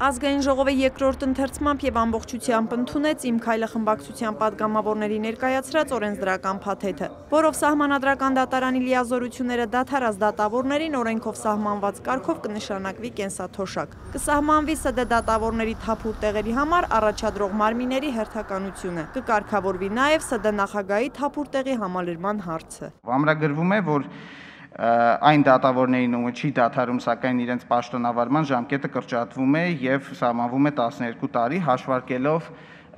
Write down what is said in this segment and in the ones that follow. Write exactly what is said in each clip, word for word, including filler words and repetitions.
Ազգային ժողովը երկրորդ ընթերցմամբ եւ ամբողջությամբ ընդունեց Իմ քայլը խմբակցության падգամավորների ներկայացրած օրենսդրական փաթեթը, որով սահմանադրական դատարանի լիազորությունները դադարած դատավորներին օրենքով սահմանված կարգով կնշանակվի կենսաթոշակ։ Կսահմանվի ՍԴ դատավորների թափուր տեղերի համար առաջադրող մարմինների հերթականությունը։ Կկարգավորվի նաեւ ՍԴ նախագահի թափուր տեղի համալրման հարցը։ Ամրագրվում է, որ այն դատավորներին, ում չի դադարում, սակայն իրենց պաշտոնավարման ժամկետը կրճատվում է եւ սահմանվում է տասներկու տարի, հաշվարկելով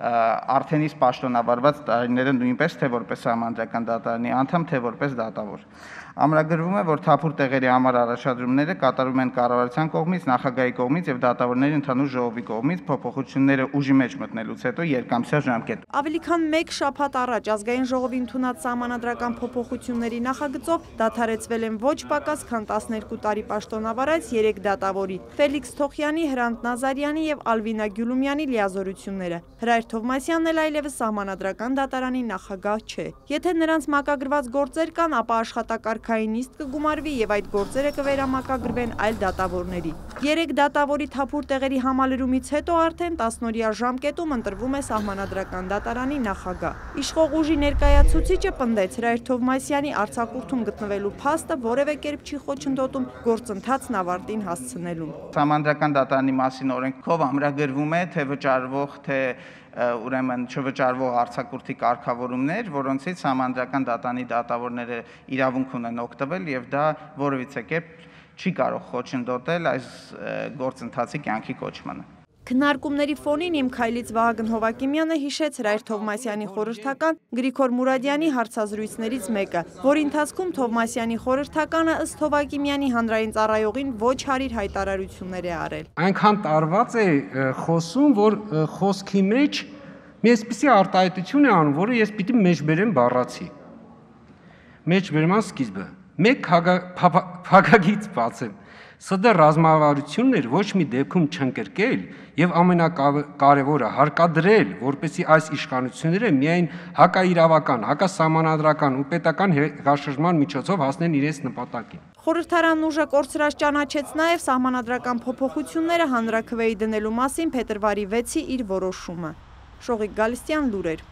արդեն իսկ պաշտոնավարված տարիները նույնպես թե որպես սահմանադրական դատարանի անդամ, թե որպես դատավոր։ Ամրագրվում է, որ թափուր տեղերի համար առաջադրումները կատարում են կառավարության կողմից, նախագահի կողմից եւ դատավորների ընդհանուր ժողովի կողմից փոփոխությունները ուժի մեջ մտնելուց հետո երկամսյա ժամկետ։ Ավելի քան մեկ շաբաթ առաջ ազգային ժողովի ընդունած սահմանադրական փոփոխությունների նախագծով դադարեցվել են ոչ պակաս քան տասներկու տարի պաշտոնավարած երեք դատավորի՝ Ֆելիքս Թոխյանի, Հրանտ Նազարյանի եւ Ալվինա Գյուլումյանի լիազորությունները։ Հրայր Թովմասյանն էլ այլևս սահմանադրական դատարանի նախագահ չէ։ Եթե նրանց մակագրված գործեր կան, ապա աշխատակարգային նիստ կգումարվի եւ այդ գործերը կվերամակագրվեն այլ դատավորների։ Երեք դատավորի թափուր տեղերի համալրումից հետո արդեն տասնօրյա ժամկետում ընտրվում է սահմանադրական դատարանի նախագահ։ Իշխող ուժի ներկայացուցիչը պնդեց Հրայր Թովմասյանի արձակուրդում գտնվելու փաստը որևէ կերպ չի խոչընդոտում գործընթացն ավարտին հասցնելուն։ Սահմանադրական դատարանի մասին օրենքով ամրագրվում է թե վճարվող, թե ուրեմն չվճարվող արձակուրդի կարգավորումներ, որոնցից սահմանադրական դատարանի դատավորները իրավունք ունեն օգտվել եւ դա որևիցե կերպ չի կարող խոչընդոտել այս գործընթացի կյանքի կոչմանը։ Քննարկումների ֆոնին Իմ քայլից Վահագն Հովակիմյանը հիշեց Հրայր Թովմասյանի խորհրդական Գրիգոր Մուրադյանի հարցազրույցներից մեկը, որի ընթացքում Թովմասյանի խորհրդականը ըստ Հովակիմյանի հանրային ծառայողին ոչ հարիր հայտարարություններ է արել։ Այնքան տարված է խոսում, որ խոսքի մեջ մի այսպիսի արտահայտություն է անում, որը ես պիտի մեջբերեմ բառացի։ Մեջբերման սկիզբը։ Մեկ փակագից բացեմ։ ՍԴ ռազմավարություններ ոչ մի դեպքում չընկրկել եւ ամենակարևորը հարկադրել, որպեսզի այս իշխանությունները միայն հակաիրավական, հակասահմանադրական ու պետական հեղաշրջման միջոցով հասնեն իրենց նպատակին։ Խորհրդարանն ուժը կորցրած ճանաչեց նաեւ սահմանադրական փոփոխությունները հանրաքվեի դնելու մասին փետրվարի վեցի իր որոշումը։ Շողիկ Գալստյան, լուրեր։